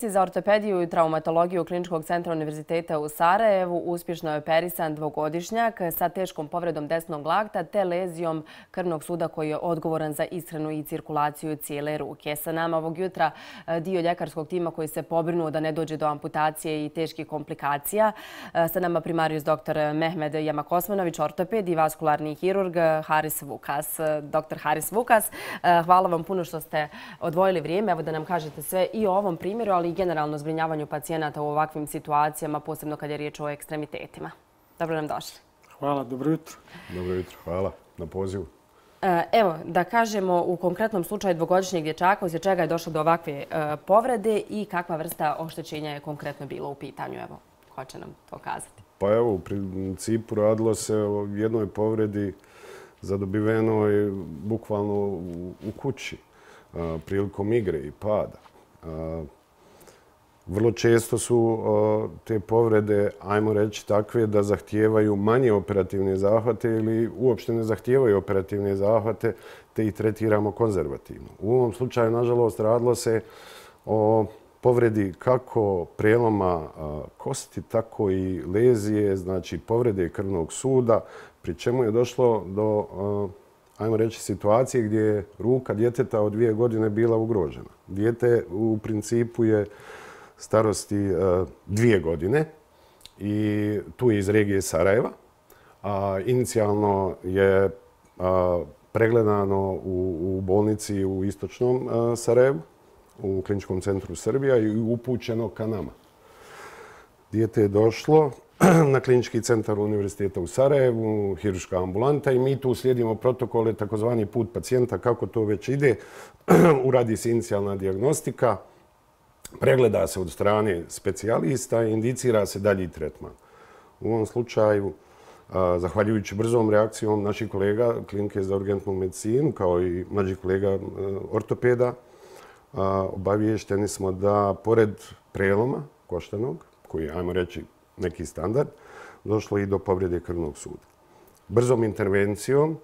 Za ortopediju i traumatologiju Kliničkog centra Univerziteta u Sarajevu uspješno je operisan dvogodišnjak sa teškom povredom desnog lakta te lezijom krvnog suda koji je odgovoran za ishranu i cirkulaciju cijele ruke. Sa nama ovog jutra dio ljekarskog tima koji se pobrinuo da ne dođe do amputacije i teških komplikacija. Sa nama primarijus dr. Mehmed Jamak-Osmanović, ortoped i vaskularni hirurg Haris Vukas. Dr. Haris Vukas, hvala vam puno što ste odvojili vrijeme. Evo da nam kažete sve i o ovom primjeru, ali i generalno zbrinjavanju pacijenata u ovakvim situacijama, posebno kad je riječ o ekstremitetima. Dobro nam došli. Hvala, dobro jutro. Dobro jutro, hvala na pozivu. Evo, da kažemo u konkretnom slučaju dvogodišnjeg dječaka, uslijed čega je došlo do ovakve povrede i kakva vrsta oštećenja je konkretno bilo u pitanju. Evo, ko će nam to kazati? Pa evo, u principu radilo se o jednoj povredi zadobivenoj bukvalno u kući prilikom igre i pada. Vrlo često su te povrede, ajmo reći, takve da zahtijevaju manje operativne zahvate ili uopšte ne zahtijevaju operativne zahvate, te ih tretiramo konzervativno. U ovom slučaju, nažalost, radilo se o povredi kako preloma kosti, tako i lezije, znači povrede krvnog suda, pri čemu je došlo do, ajmo reći, situacije gdje je ruka djeteta od 2 godine bila ugrožena. Dijete u principu je starosti 2 godine i tu je iz regije Sarajeva. Inicijalno je pregledano u bolnici u istočnom Sarajevu, u Kliničkom centru Srbija i upućeno ka nama. Dijete je došlo na Klinički centar Univerziteta u Sarajevu, hirurška ambulanta i mi tu slijedimo protokole, takozvani put pacijenta, kako to već ide. Uradi se inicijalna dijagnostika, pregleda se od strane specijalista i indicira se dalji tretman. U ovom slučaju, zahvaljujući brzom reakcijom naših kolega Klinike za urgentnu medicinu, kao i mlađih kolega ortopeda, obaviješteni smo da pored preloma koštanog, koji je, ajmo reći, neki standard, došlo i do povrede krvnog suda. Brzom intervencijom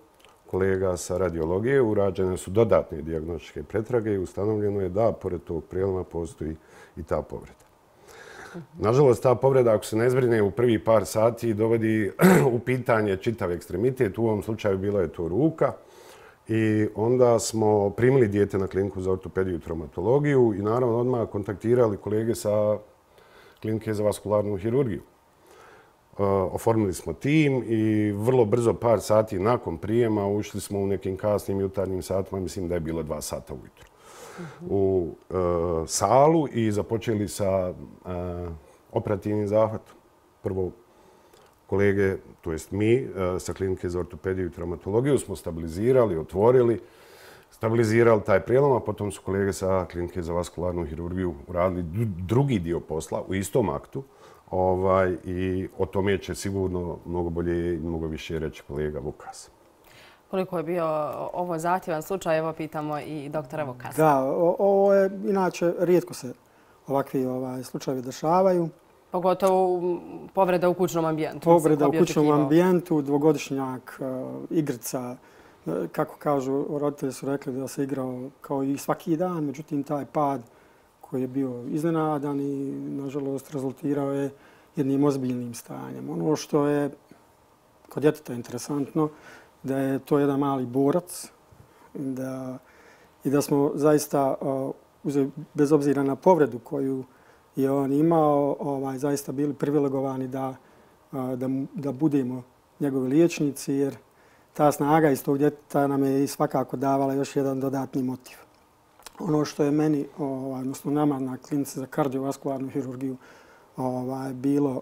kolega sa radiologije urađene su dodatne dijagnostičke pretrage i ustanovljeno je da pored tog preloma postoji i ta povreda. Nažalost, ta povreda, ako se ne zbrine u prvi par sati, dovodi u pitanje čitav ekstremitet. U ovom slučaju bila je to ruka. I onda smo primili dijete na kliniku za ortopediju i traumatologiju i naravno odmah kontaktirali kolege sa Klinike za vaskularnu hirurgiju. Oformili smo tim i vrlo brzo, par sati nakon prijema, ušli smo u nekim kasnim jutarnjim satima, mislim da je bilo 2 sata ujutro, u salu i započeli sa operativnim zahvatom. Prvo kolege, to jest mi, sa Klinike za ortopediju i traumatologiju smo stabilizirali, otvorili, stabilizirali taj prijelom, a potom su kolege sa Klinike za vaskularnu hirurgiju uradili drugi dio posla u istom aktu. I o tome će sigurno mnogo bolje i mnogo više reći kolega Vukas. Koliko je bio ovo zahtjevan slučaj, evo pitamo i doktora Vukasa. Da, ovo je, inače, rijetko se ovakvi slučajevi dešavaju. Pogotovo povreda u kućnom ambijentu. Povreda u kućnom ambijentu, dvogodišnjak, igrica. Kako kažu, roditelji su rekli da se igrao kao i svaki dan, međutim taj pad koji je bio iznenadan i, nažalost, rezultirao je jednim ozbiljnim stanjem. Ono što je kod djeteta interesantno, da je to jedan mali borac i da smo zaista, bez obzira na povredu koju je on imao, zaista bili privilegovani da budemo njegovi liječnici, jer ta snaga iz tog djeteta nam je svakako davala još jedan dodatni motiv. Ono što je meni, odnosno nama na Klinici za kardiovaskularnu hirurgiju bilo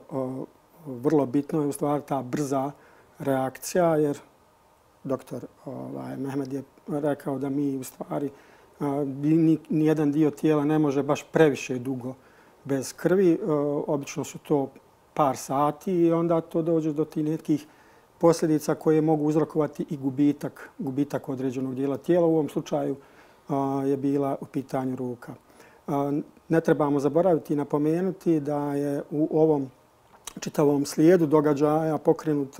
vrlo bitno je u stvari ta brza reakcija, jer doktor Mehmed je rekao da mi u stvari nijedan dio tijela ne može baš previše dugo bez krvi. Obično su to par sati i onda to dođe do tih nekih posljedica koje mogu uzrokovati i gubitak određenog dijela tijela. U ovom slučaju je bila u pitanju ruka. Ne trebamo zaboraviti i napomenuti da je u ovom čitavom slijedu događaja pokrenut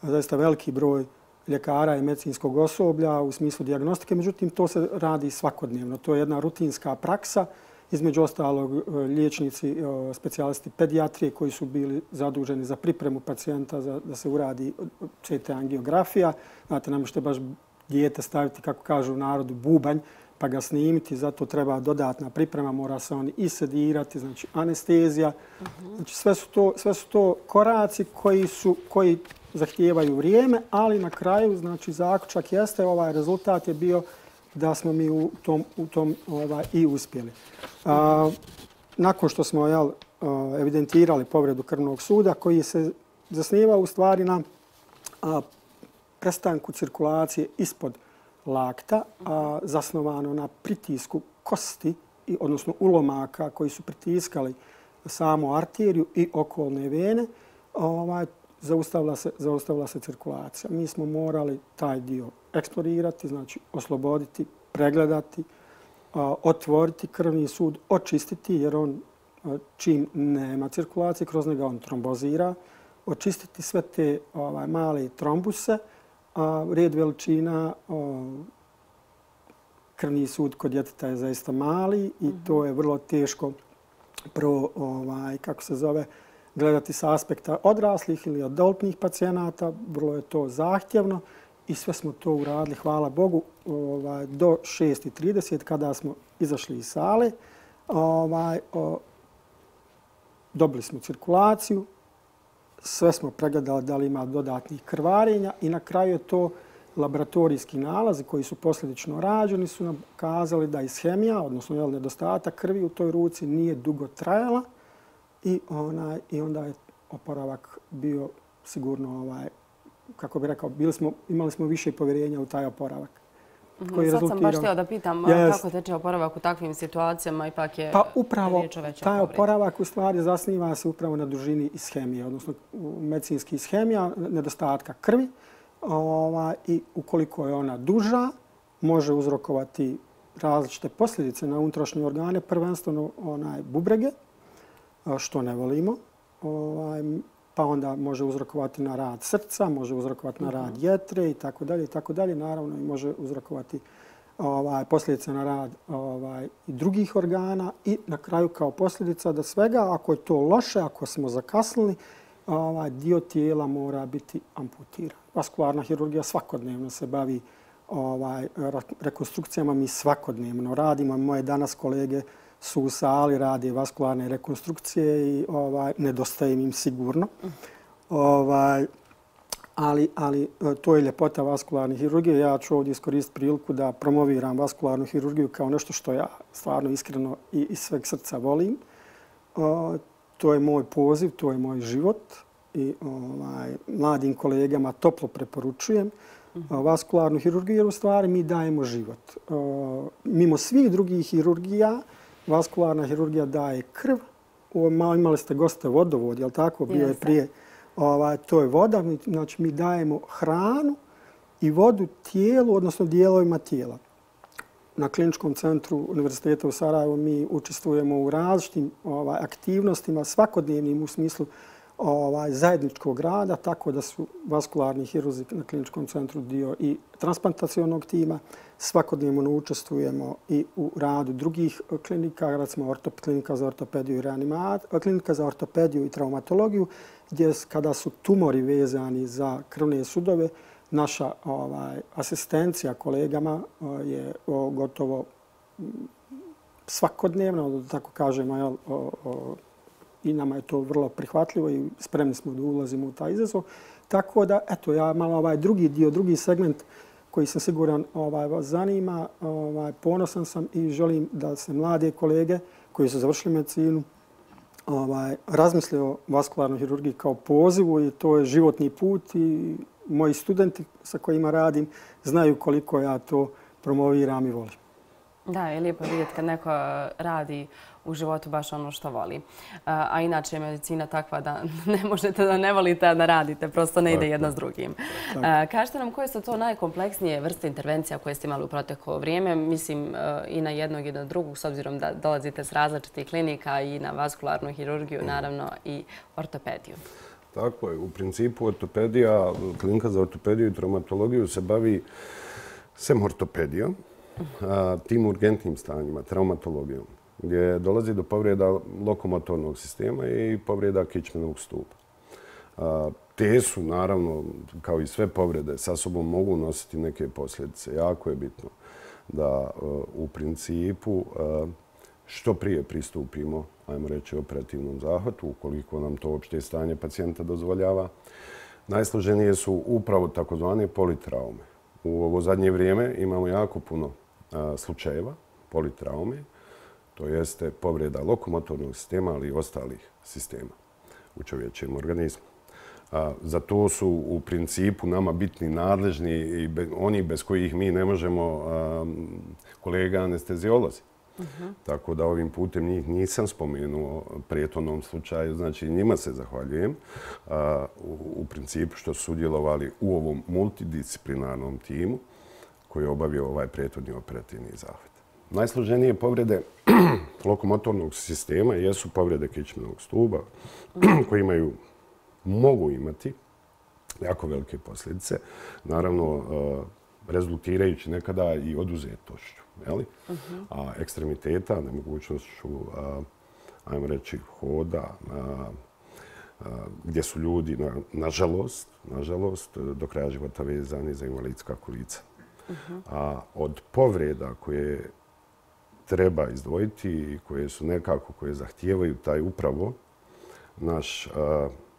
zaista veliki broj ljekara i medicinskog osoblja u smislu dijagnostike. Međutim, to se radi svakodnevno. To je jedna rutinska praksa između ostalog liječnici, specijalisti pedijatrije koji su bili zaduženi za pripremu pacijenta da se uradi CT angiografija. Znate, ne možete baš dijete staviti, kako kažu u narodu, bubanj pa ga snimiti, zato treba dodatna priprema, mora se on i sedirati, znači anestezija. Znači, sve su to koraci koji zahtijevaju vrijeme, ali na kraju, znači, zaključak jeste, ovaj rezultat je bio da smo mi u tom i uspjeli. Nakon što smo evidentirali povredu krvnog suda, koji se zasnivao u stvari na prestanku cirkulacije ispod lakta, zasnovano na pritisku kosti, odnosno ulomaka koji su pritiskali samu arteriju i okolne vene, zaustavila se cirkulacija. Mi smo morali taj dio eksplorirati, znači osloboditi, pregledati, otvoriti krvni sud, očistiti, jer on čim nema cirkulacije, kroz njega on trombozira, očistiti sve te male trombuse, red veličina, krvni sud kod djeteta je zaista mali i to je vrlo teško gledati s aspekta odraslih ili adultnih pacijenata. Vrlo je to zahtjevno i sve smo to uradili, hvala Bogu, do 6:30 kada smo izašli iz sale. Dobili smo cirkulaciju, sve smo pregledali da li ima dodatnih krvarenja i na kraju je to laboratorijski nalazi koji su posljedično rađeni su nam kazali da ishemija, odnosno nedostatak krvi u toj ruci nije dugo trajala i onda je oporavak bio sigurno, kako bih rekao, imali smo više povjerenja u taj oporavak. Sad sam baš htjela da pitam kako teče oporavak u takvim situacijama, ipak je riječ o većoj taj oporavak u stvari zasniva se upravo na dužini ishemije, odnosno medicinski ishemija, nedostatka krvi. I ukoliko je ona duža, može uzrokovati različite posljedice na unutrašnje organe, prvenstveno bubrege, što ne volimo, pa onda može uzrokovati na rad srca, može uzrokovati na rad jetre i tako dalje. Naravno, može uzrokovati posljedice na rad i drugih organa i na kraju kao posljedica da svega, ako je to loše, ako smo zakasnili, dio tijela mora biti amputiran. Vaskularna hirurgija svakodnevno se bavi rekonstrukcijama. Mi svakodnevno radimo. Moje danas kolege su u sali, rade vaskularne rekonstrukcije i nedostaje im sigurno. Ali to je ljepota vaskularne hirurgije. Ja ću ovdje iskoristiti priliku da promoviram vaskularnu hirurgiju kao nešto što ja stvarno iskreno i iz sveg srca volim. To je moj poziv, to je moj život i mladim kolegama toplo preporučujem vaskularnu hirurgiju jer u stvari mi dajemo život. Mimo svih drugih hirurgija, vaskularna hirurgija daje krv. Imali ste goste vodovod, je li tako? Bio je prije. To je voda, znači mi dajemo hranu i vodu tijelu, odnosno dijelovima tijela. Na Kliničkom centru Univerziteta u Sarajevu mi učestvujemo u različitim aktivnostima, svakodnevnim u smislu zajedničkog rada, tako da su vaskularni hirurzi na Kliničkom centru dio i transplantacionog tima. Svakodnevno učestvujemo i u radu drugih klinika, recimo klinika za ortopediju i reanimaciju, klinika za ortopediju i traumatologiju, gdje kada su tumori vezani za krvne sudove, naša asistencija kolegama je gotovo svakodnevna, da tako kažemo, i nama je to vrlo prihvatljivo i spremni smo da ulazimo u taj izazov. Tako da, eto, ja malo drugi segment koji sam siguran vas zanima, ponosan sam i želim da se mlade kolege koji su završili medicinu razmisle o vaskularnoj hirurgiji kao pozivu i to je životni put i moji studenti sa kojima radim znaju koliko ja to promoviram i volim. Da, je lijepo vidjeti kad neko radi u životu baš ono što voli. A inače je medicina takva da ne možete da ne volite, a da radite. Prosto ne ide jedno s drugim. Kažete nam koje su to najkompleksnije vrste intervencija koje ste imali u proteklo vrijeme? Mislim i na jednog i na drugog, s obzirom da dolazite s različitih klinika i na vaskularnu hirurgiju, naravno i ortopediju. Tako je. U principu ortopedija, klinika za ortopediju i traumatologiju se bavi sem ortopedijom, tim urgentnim stanjima, traumatologijom. gdje dolazi do povreda lokomotornog sistema i povreda kičmenog stupa. Te su, naravno, kao i sve povrede, sa sobom mogu nositi neke posljedice. Jako je bitno da u principu što prije pristupimo, ajmo reći, operativnom zahvatu, ukoliko nam to opšte stanje pacijenta dozvoljava. Najsloženije su upravo takozvane politraume. U ovo zadnje vrijeme imamo jako puno slučajeva politraume, to jeste povreda lokomotornog sistema, ali i ostalih sistema u čovječjem organizmu. Za to su u principu nama bitni nadležni i oni bez kojih mi ne možemo, kolega anesteziolozi. Tako da ovim putem njih nisam spomenuo prijetornom slučaju, znači njima se zahvaljujem u principu što su sudjelovali u ovom multidisciplinarnom timu koji je obavio ovaj prijetorni operativni zahvat. Najsloženije povrede lokomotornog sistema jesu povrede kičmenog stuba koji mogu imati jako velike posljedice, naravno rezultirajući nekada i oduzetošću, a ekstremiteta, nemogućnošću, ajmo reći, hoda, gdje su ljudi, nažalost, do kraja života vezani za invalidska kolica. A od povreda koje treba izdvojiti i koje su nekako, koje zahtijevaju taj upravo naš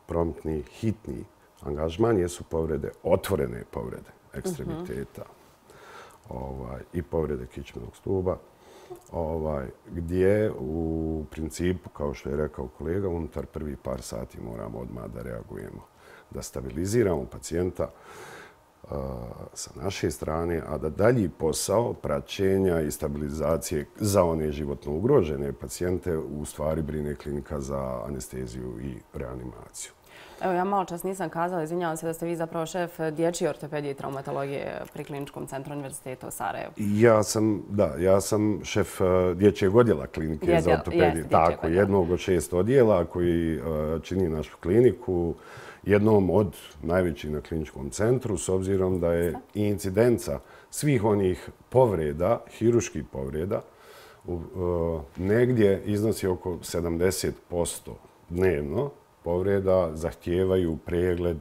promptni, hitni angažman, jesu povrede, otvorene povrede ekstremiteta i povrede kičmenog stuba, gdje u principu, kao što je rekao kolega, unutar prvi par sati moramo odmah da reagujemo, da stabiliziramo pacijenta sa naše strane, a da dalji posao praćenja i stabilizacije za one životno ugrožene pacijente u stvari brine klinika za anesteziju i reanimaciju. Evo, ja malo čas nisam kazala, izvinjavam se da ste vi zapravo šef dječje ortopedije i traumatologije pri Kliničkom centru Univerziteta u Sarajevu. Ja sam šef dječjeg odjela klinike za ortopediju. Tako, jednog od 6 odjela koji čini našu kliniku, jednom od najvećih na kliničkom centru, s obzirom da je i incidenca svih onih povreda, hiruških povreda, negdje iznosi oko 70% dnevno. Povreda zahtijevaju pregled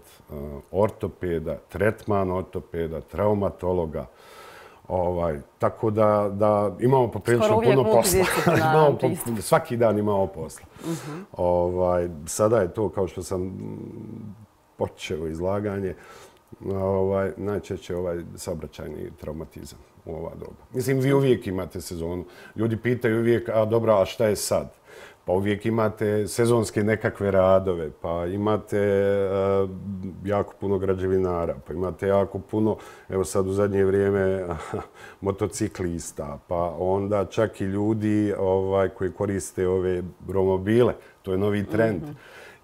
ortopeda, tretman ortopeda, traumatologa. Tako da imamo poprilično puno posla. Svaki dan imamo posla. Sada je to, kao što sam počeo izlaganje, najčešće saobraćajni traumatizam u ova doba. Mislim, vi uvijek imate sezonu. Ljudi pitaju uvijek, a šta je sad? Pa uvijek imate sezonske nekakve radove, pa imate jako puno građevinara, pa imate jako puno, evo sad u zadnje vrijeme, motociklista, pa onda čak i ljudi koji koriste ove romobile. To je novi trend.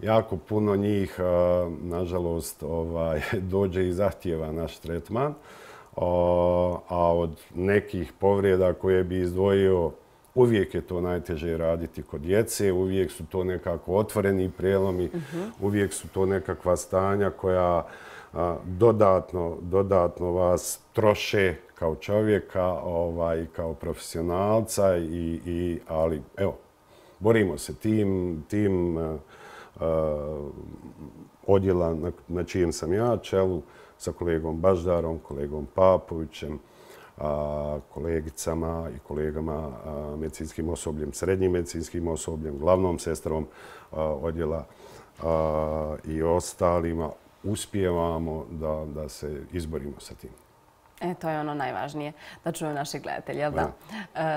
Jako puno njih, nažalost, dođe i zahtijeva naš tretman, a od nekih povreda koje bi izdvojio, uvijek je to najteže raditi kod djece, uvijek su to nekako otvoreni prelomi, uvijek su to nekakva stanja koja dodatno vas troše kao čovjeka i kao profesionalca, ali evo, borimo se tim odjela na čijem sam ja čelu, sa kolegom Baždarom, kolegom Papovićem, kolegicama i kolegama medicinskim osobljem, srednjim medicinskim osobljem, glavnom sestrom odjela i ostalima, uspijevamo da se izborimo sa tim. To je ono najvažnije, da čuju naši gledatelji, jel da?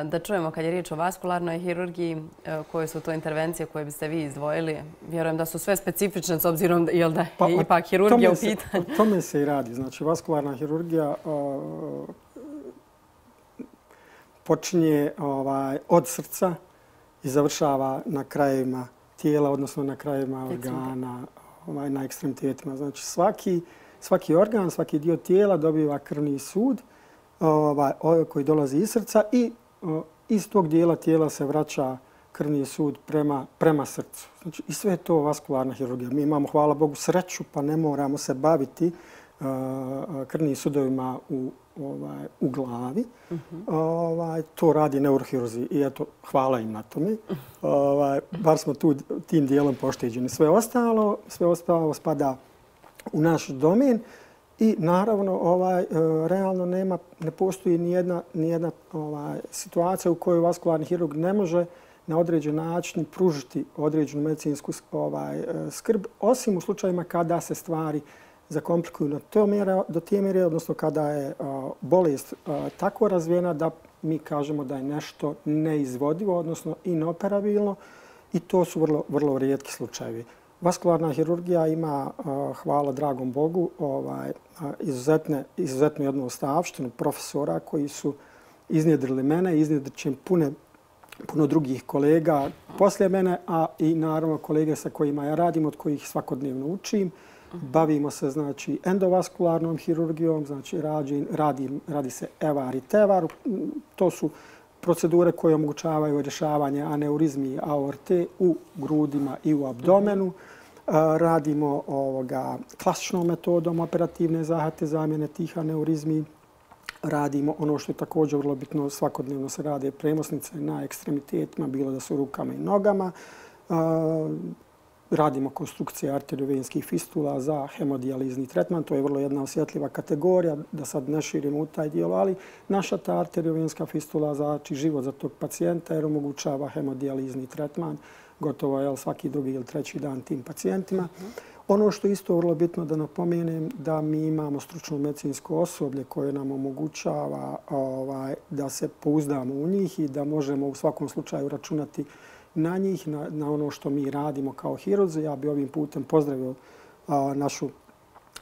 Da čujemo kad je riječ o vaskularnoj hirurgiji, koje su to intervencije koje biste vi izdvojili. Vjerujem da su sve specifične s obzirom da je ipak hirurgija u pitanju. O tome se i radi. Znači, vaskularna hirurgija počinje od srca i završava na krajevima tijela, odnosno na krajevima organa, na ekstremitetima. Znači, svaki organ, svaki dio tijela dobiva krvni sud koji dolazi iz srca i iz tog dijela tijela se vraća krvni sud prema srcu. Znači, i sve je to vaskularna hirurgija. Mi imamo, hvala Bogu, sreću pa ne moramo se baviti krvnim sudovima u glavi. To radi neurohirurzi i eto, hvala im na tome. Bar smo tu tim dijelom pošteđeni. Sve ostalo spada u naš domen i naravno realno ne postoji nijedna situacija u kojoj vaskularni hirurg ne može na određen način pružiti određenu medicinsku skrb, osim u slučajima kada se stvari zakomplikuju do te mjere, odnosno kada je bolest tako razvijena da mi kažemo da je nešto neizvodivo, odnosno inoperabilno, i to su vrlo rijetki slučajevi. Vaskularna hirurgija ima, hvala dragom Bogu, izuzetnu jednu ostavštinu profesora koji su iznjedrili mene, iznjedrit će puno drugih kolega poslije mene, a i naravno kolege sa kojima ja radim, od kojih svakodnevno učim. Bavimo se znači endovaskularnom hirurgijom, znači radi se EVAR i TEVAR. To su procedure koje omogućavaju rješavanje aneurizmi aorte u grudima i u abdomenu. Radimo klasičnom metodom operativne zahvate zamjene tih aneurizmi. Radimo ono što je također vrlo bitno, svakodnevno se rade premosnice na ekstremitetima, bilo da su rukama i nogama. Radimo konstrukcije arteriovenskih fistula za hemodijalizni tretman. To je vrlo jedna osjetljiva kategorija, da sad ne širimo u taj dijelo, ali naša ta arteriovenska fistula znači život za tog pacijenta jer omogućava hemodijalizni tretman gotovo svaki drugi ili treći dan tim pacijentima. Ono što je isto vrlo bitno da napomenem, da mi imamo stručno medicinsko osoblje koje nam omogućava da se pouzdamo u njih i da možemo u svakom slučaju računati na njih, na ono što mi radimo kao hirurzi. Ja bi ovim putem pozdravio našu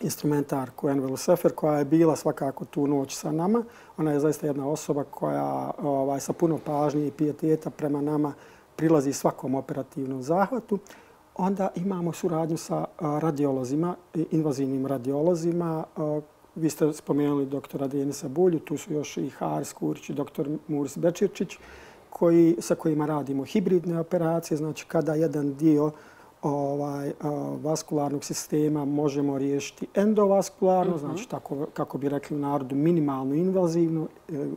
instrumentarku Envelu Sefer koja je bila svakako tu noć sa nama. Ona je zaista jedna osoba koja sa puno pažnje i pijeteta prema nama prilazi svakom operativnom zahvatu. Onda imamo suradnju sa radiolozima, invazivnim radiolozima. Vi ste spomenuli doktora Denisa Bulju, tu su još i Haris Kurić i doktor Muris Bečirčić, sa kojima radimo hibridne operacije. Znači kada jedan dio vaskularnog sistema možemo riješiti endovaskularno, znači tako kako bi rekli u narodu minimalno invazivno,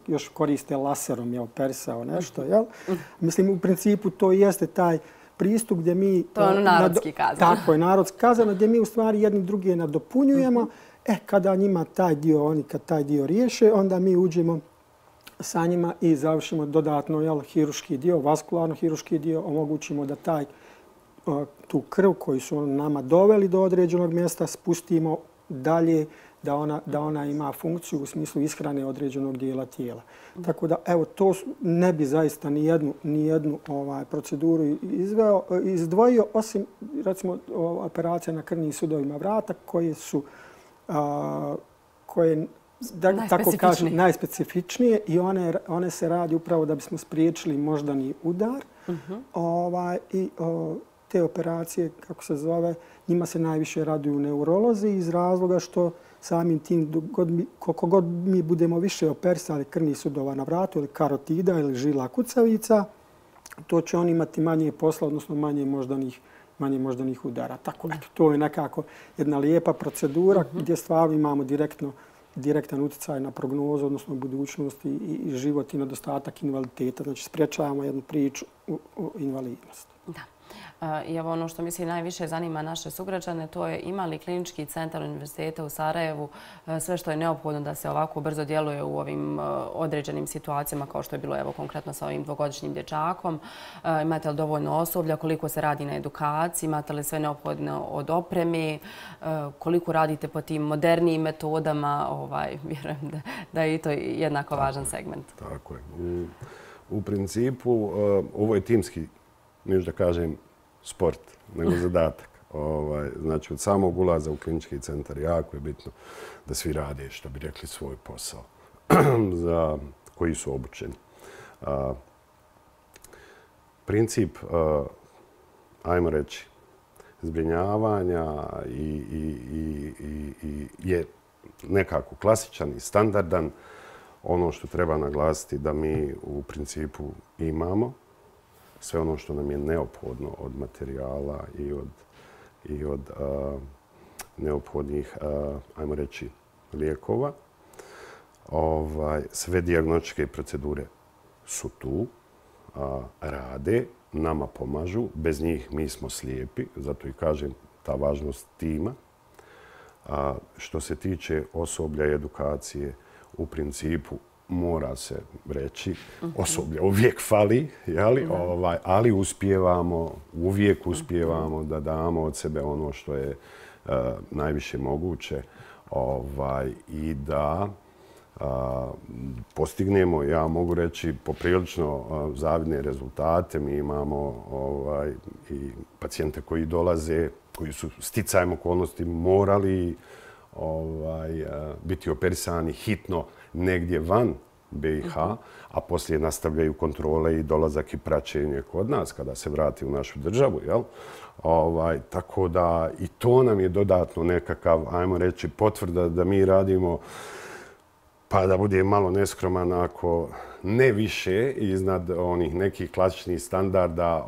još koriste laserom, perisao nešto. Mislim, u principu to jeste taj pristup gdje mi... To je ono narodski kazano. Tako je, narodski kazano, gdje mi u stvari jedni druge nadopunjujemo. Kada njima taj dio, oni kad taj dio riješe, onda mi uđemo sa njima i završimo dodatno hirurški dio, vaskularno hirurški dio, omogućimo da tu krv koju su nama doveli do određenog mjesta spustimo dalje, da ona ima funkciju u smislu ishrane određenog dijela tijela. Tako da, to ne bi zaista ni jednu proceduru izdvojio, osim, recimo, operacija na krvnim sudovima vrata, koje su tako kažem, najspecifičnije i one se radi upravo da bismo spriječili moždani udar. I te operacije, kako se zove, njima se najviše raduju neurolozi iz razloga što samim tim, koliko god mi budemo više operisali krvnih sudova na vratu ili karotida ili žila kucavica, to će oni imati manje posla, odnosno manje moždanih udara. Tako da to je nekako jedna lijepa procedura gdje stvarno imamo direktan utjecaj na prognozu, odnosno budućnost i život i nedostatak invaliditeta. Znači, spriječavamo jednu priču o invalidnosti. Da. I evo ono što mislim najviše zanima naše sugrađane, to je ima li klinički centar univerziteta u Sarajevu sve što je neophodno da se ovako brzo djeluje u ovim određenim situacijama kao što je bilo konkretno sa ovim dvogodišnjim dječakom. Imate li dovoljno osoblja, koliko se radi na edukaciji, imate li sve neophodno od opreme, koliko radite po tim modernijim metodama, vjerujem da je i to jednako važan segment. Tako je. U principu ovo je timski, neću da kažem, sport, nego zadatak. Znači, od samog ulaza u klinički centar jako je bitno da svi rade, što bi rekli, svoj posao za koji su obučeni. Princip, ajmo reći, zbrinjavanja je nekako klasičan i standardan. Ono što treba naglasiti da mi u principu imamo sve ono što nam je neophodno od materijala i od neophodnih, ajmo reći, lijekova. Sve dijagnostičke procedure su tu, rade, nama pomažu. Bez njih mi smo slijepi, zato i kažem ta važnost tima. Što se tiče osoblja i edukacije, u principu mora se reći, osoblja uvijek fali, ali uvijek uspijevamo da damo od sebe ono što je najviše moguće i da postignemo, ja mogu reći, poprilično zavidne rezultate. Mi imamo i pacijente koji dolaze, koji su sticajem okolnosti morali biti operisani hitno negdje van BiH, a poslije nastavljaju kontrole i dolazak i praćenje kod nas kada se vrati u našu državu. Tako da i to nam je dodatno nekakav, ajmo reći, potvrda da mi radimo, pa da bude malo neskroman, ako ne više iznad onih nekih klasičnih standarda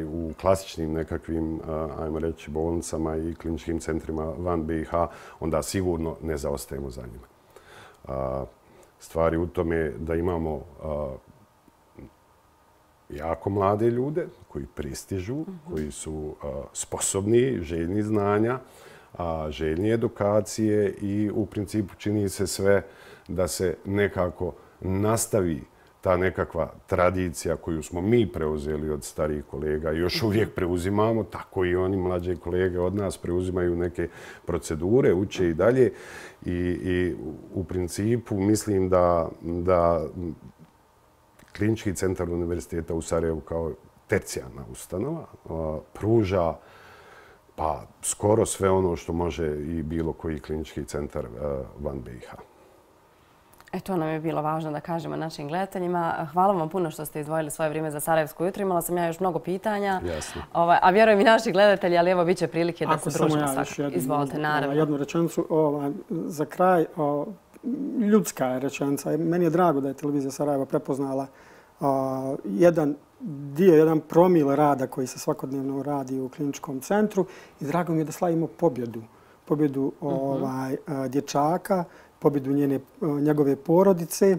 u klasičnim nekakvim, ajmo reći, bolnicama i kliničkim centrima van BiH, onda sigurno ne zaostajemo za njima. Stvar je u tome da imamo jako mlade ljude koji pristižu, koji su sposobni, željni znanja, željni edukacije i u principu čini se sve da se nekako nastavi ta nekakva tradicija koju smo mi preuzeli od starijih kolega i još uvijek preuzimamo, tako i oni mlađe kolege od nas preuzimaju neke procedure, uče i dalje. I u principu mislim da Klinički centar Univerziteta u Sarajevu kao tercijarna ustanova pruža pa skoro sve ono što može i bilo koji klinički centar van BiH. To nam je bilo važno da kažemo našim gledateljima. Hvala vam puno što ste izdvojili svoje vrijeme za Sarajevsko jutro. Imala sam ja još mnogo pitanja. Jasno. A vjerujem i naši gledatelji, ali evo bit će prilike da se družimo svakako. Izvolite, naravno. Jednu rečenicu za kraj. Ljudska je rečenica. Meni je drago da je televizija Sarajeva prepoznala jedan promil rada koji se svakodnevno radi u kliničkom centru i drago mi je da slavimo pobjedu. Pobjedu dječaka, pobjedu njegove porodice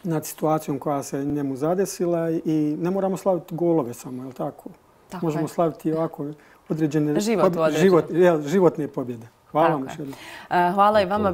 nad situacijom koja se njemu zadesila i ne moramo slaviti golove samo, je li tako? Možemo slaviti ovako određene životne pobjede. Hvala vam još jednom. Hvala i vama.